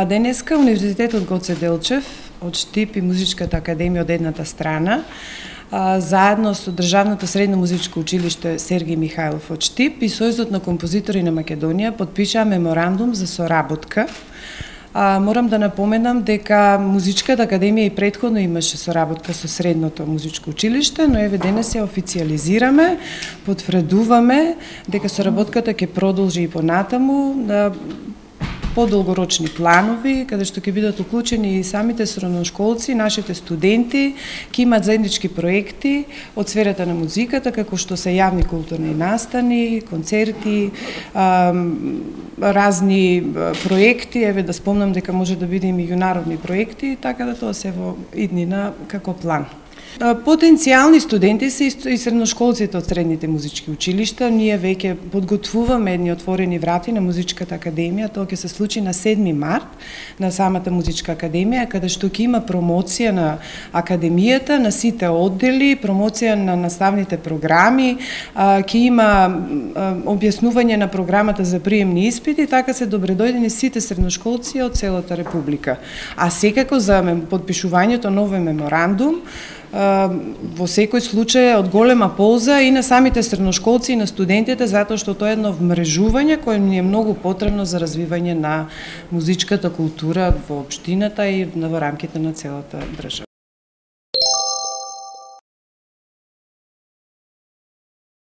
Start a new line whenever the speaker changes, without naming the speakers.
Денеска Универзитетот Гоце Делчев од Штип и Музичката академија од едната страна, заедно со Државното средно музичко училиште Сергиј Михајлов од Штип и Сојузот на композитори на Македонија подпишаа меморандум за соработка. Морам да напоменам дека Музичката академија и претходно имаше соработка со Средното музичко училиште, но еве денес ја официјализираме, потврдуваме дека соработката ќе продолжи и понатаму на подолгорочни планови, каде што ќе бидат уклучени и самите средношколци, нашите студенти, ќе имат заеднички проекти од сферата на музиката, како што се јавни културни настани, концерти, разни проекти, еве да спомнам дека може да биде и меѓународни проекти, така да тоа се во иднина како план. Потенцијални студенти се и средношколците од средните музички училишта. Ние веќе подготвуваме едни отворени врати на Музичката академија. Тоа ќе се случи на 7 март на самата Музичка академија, каде што ќе има промоција на академијата, на сите оддели, промоција на наставните програми, ќе има објаснување на програмата за приемни испити, така се добредојдени сите средношколци од целата република. А секако за подпишувањето на овој меморандум во секој случај од голема полза и на самите средношколци и на студентите, затоа што тоа е едно вмрежување кое ни е многу потребно за развивање на музичката култура во општината и во рамките на целата држава.